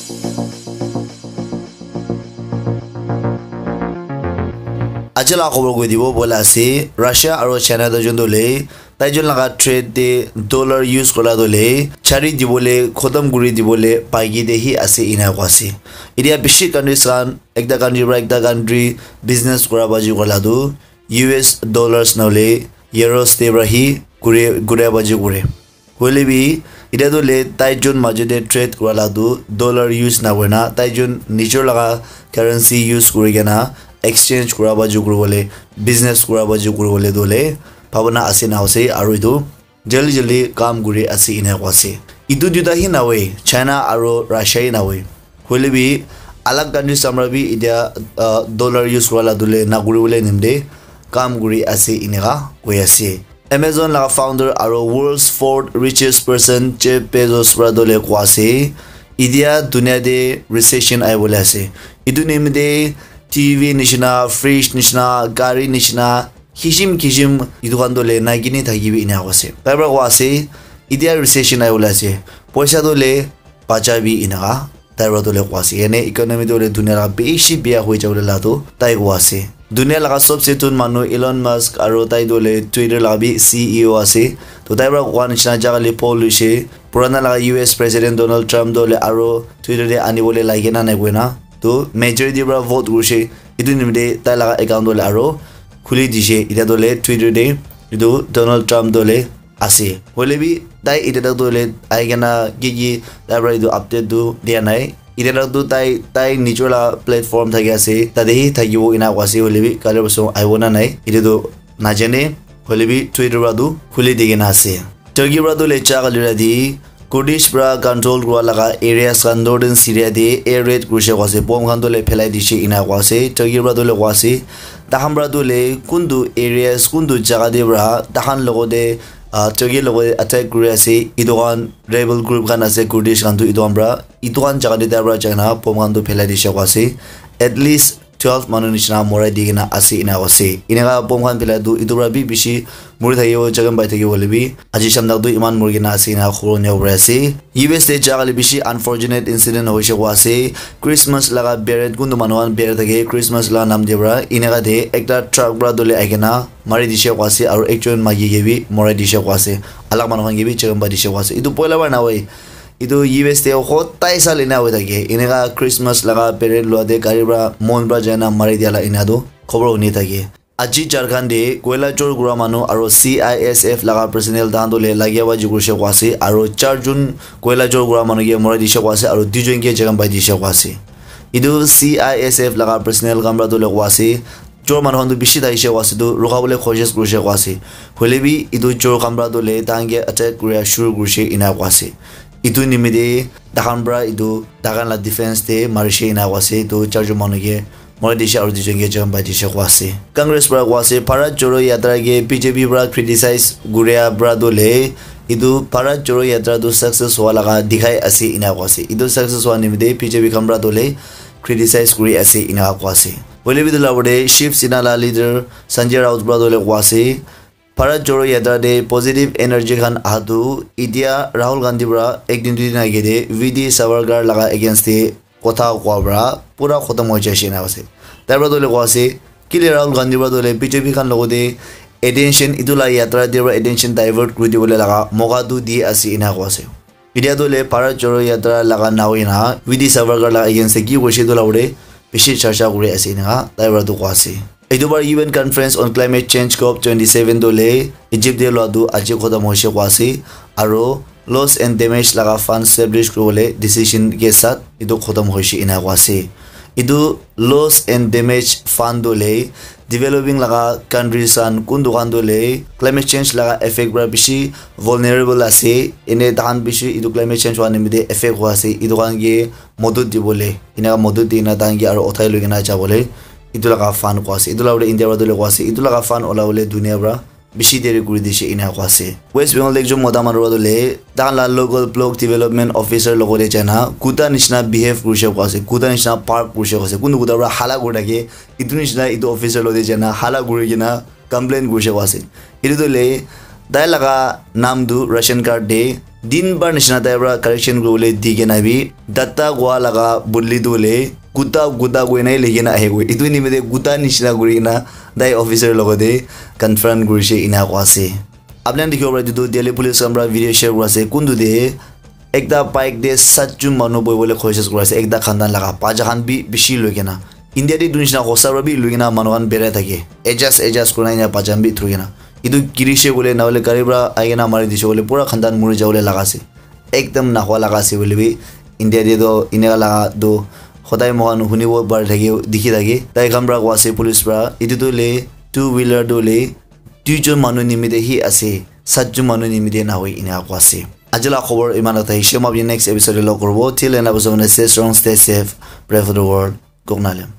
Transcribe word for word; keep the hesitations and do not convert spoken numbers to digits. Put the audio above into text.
Aji la khobor koi dibo bola ase, Russia aro China toh jun dole, tai jun laga trade te dollar use kora dole, chari dibole, khotom kuri dibole, paiki de hi ase ina kwa ase. Idia bishi countries khan, ekta country pra ekta country business kora baji kola tu, U S dollars nahole euros te pra hi kure, kure baji kure. Hoile bi, etiya tu le tai jun majo te trade kura la tu dollar use na kurina, tai jun nijor laga currency use kuri kena exchange kura baji kuri bole, business kura baji kuri bole tu le, bhabana ase na ase, aru etu jaldi jaldi kam kuri ase ena koi ase. Etu duita hi na hoi, China aru Russia hi na hoi. Hoile bi, alag countries khan pra bi etiya, ah, dollar use kura la tu le na kuri bole nimde kam kuri ase eneka koi ase. Amazon laga founder aro world's fourth richest person Jeff Bezos pra dole koi ase, idia dunia te recession ahi bole ase. Etu nimite T V nishina, fridge nishina, gari nishina, kishim kishim etu khan dole nai kini thaki bi ena koi ase. Tai pra koi ase, idia recession ahi bole ase. Poisa dole bacha bi eneka tai pra tu le koi ase. Yane economy tu le dunia laga bishi biya hoi jabo le la tu tai koi ase. Dunia laga sobse thun manu Elon Musk aro tai tu le Twitter laga bi C E O ase. To tai pra koi nishina jaga le poll hoise. Purana laga U S President Donald Trump tu le aro Twitter te ani bole lai kena nai koina. To majority pra vote hoise. Etu nimite tai laga account tu le aro khuli dise. Etiya tu le Twitter te etu Donald Trump tu le ase. Hoile bi tai etiya tak tu hoile ahi kena ki ki tai pra etu update tu dia nai. Etiya tak tu tai, tai nijor la platform thaki ase, tate hi thakibo ena koi ase, hoile bi kali parson ahibo na nai, etu tu najane, hoile bi Twitter pra tu khuli di kena ase. Turkey pra tu le cha kali rati Kurdish pra control kura laga areas khan northern Syria te air raid kurise koi ase, bomb khan tu le phelai dise ena koi ase, Turkey pra tu le koi ase, takhan pra tu le kuntu areas, kuntu jaga te pra takhan logote, ah, Turkey logote attack kuri ase, etu khan rebel group khan ase, Kurdish khan tu etu khan pra, etu khan jaga te tai pra jai kena bomb khan tu phelai dise koi ase, at least twelve manu nishina morai di kena ase ena koi ase. Eneka bomb khan phelai tu etu pra bi bishi muri thakibo, jagan pai thakibo hoile bi aji sham tak tu eman muri kena ase ena khobor nibo pari ase. U S te jaga le bishi unfortunate incident hoise koi ase. Christmas laga parade kuntu manu khan parade thake Christmas laga nam te pra eneka te ekta truck pra dole ahi kena mari dise koi ase aru ekjon maiki ke bi morai dise koi ase. Alak manu khan ke bi jagan pai dise koi ase. Etu poila pra na hoi. Etu U S te hotai sal ena hoi thake. Eneka Christmas laga parade lua te gari pra mon pra jai na mari dia la ena tu khobor huni thake. Aji Jharkhand te koila chor kura manu aru C I S F laga personnel tahan tu le lagia baji kurise koi ase aru char jun koila chor kura manu ke morai dise koi ase aru duijon ke jagan pai dise koi ase. Etu C I S F laga personnel khan pra tu le koi ase, chor manu khan tu bishi thakise koi ase, tu rukha bole koshish kurise koi ase. Hoile bi etu chor khan pra tu le tahan ke attack kuria shuru kurise ena koi ase. Etu nimite takhan pra etu takhan la defense te marise ena koi ase, etu charjon manu ke morai dise aru duijon ke jagan pai dise koi ase. Congress pra koi ase, Bharat Jodo Yatra ke B J P pra criticize kuria pra tu le etu Bharat Jodo Yatra tu success hua laga dikhai ase ena koi ase. Etu success hua nimite B J P khan pra tu le criticize kuri ase ena koi ase. Hoile bi etu la opor te Shiv Sena la leader Sanjay Raut pra tu le koi ase, Bharat Jodo Yatra te positive energy khan aha tu etiya Rahul Gandhi pra ek din dui din age te V D Savarkar laga against te kotha koa pra pura khotom hoi jaise ena ase. Tai pra tu le koi ase, kile Rahul Gandhi pra tu le B J P khan logote attention etu la yatra te pra attention divert kuri dibole laga moka tu di ase ena koi ase. Etiya tu le Bharat Jodo Yatra laga na hoi na V D Savarkar laga against te ki koise etu la opor te bishi charcha kuri ase ena tai pra tu koi ase. Etu bar U N Conference on Climate Change COP twenty seven tu le Egypt te lua tu aji khotom hoise koi ase aru loss and damage laga fund establish kuri bole decision ke sath etu khotom hoise ena koi ase. Etu loss and damage fund tu le developing laga countries khan kun dukan tu le climate change laga effect para bishi vulnerable ase, ene tahan bishi etu climate change hua nimite effect hua ase, etu khan ke modot dibole, ena modot dina tahan ke aro uthai loi kena jabole etu laga fund koi ase. Etu la bole India para tu le koi ase, etu laga fund ola bole dunia para bishi deri kuri dise ena koi ase. West Bengal te ekjon mota manu para tu le tahan la local block development officer logote jaina kuta nishina behave kurise koi ase, kuta nishina bark kurise koi ase, kunu kuta para hala kuri thake, etu nishina etu officer logote jaina hala kuri kena complain kurise koi ase. Etu tu le tai laga naam tu ration card te Din bar nishina tai para correction kuribole di kena bi, data koa laga bodli tu hoile guta guta koina hi likhi kena ahi koi. Etu nimite guta nishina kuri kena tai officer logote confront kurishe ena koa ase. Apni khan dikhibo para etu tu Delhi police khan para video share kura ase. Kuntu te ekta bike te satjon manu bohi bole koshish kuri ase. Ekta khandan laga bacha khan bi bishi loi kena. India te etu nishina hosa para bi loi kena manu khan berai thake. Adjust, adjust kurina ena bacha khan bi thoi kena. Etu girishe koile na hoile gari para ahi kena mari dishe koile pura khandan muri jabole laga ase. Ekdam nahua laga ase hoile bi India te toh eneka laga toh hodai moikhan hunibo pari thake, dikhi thake. Tai khan para koa ase police para, etu tu hoile two wheeler tu hoile duijon manu nimite hi ase, satjon manu nimite nahoi eneka koa ase. Aji la khobor iman ta hishe, moi apni next episode te log koribo. Till then, stay strong, stay safe, pray for the world. Kok nalem.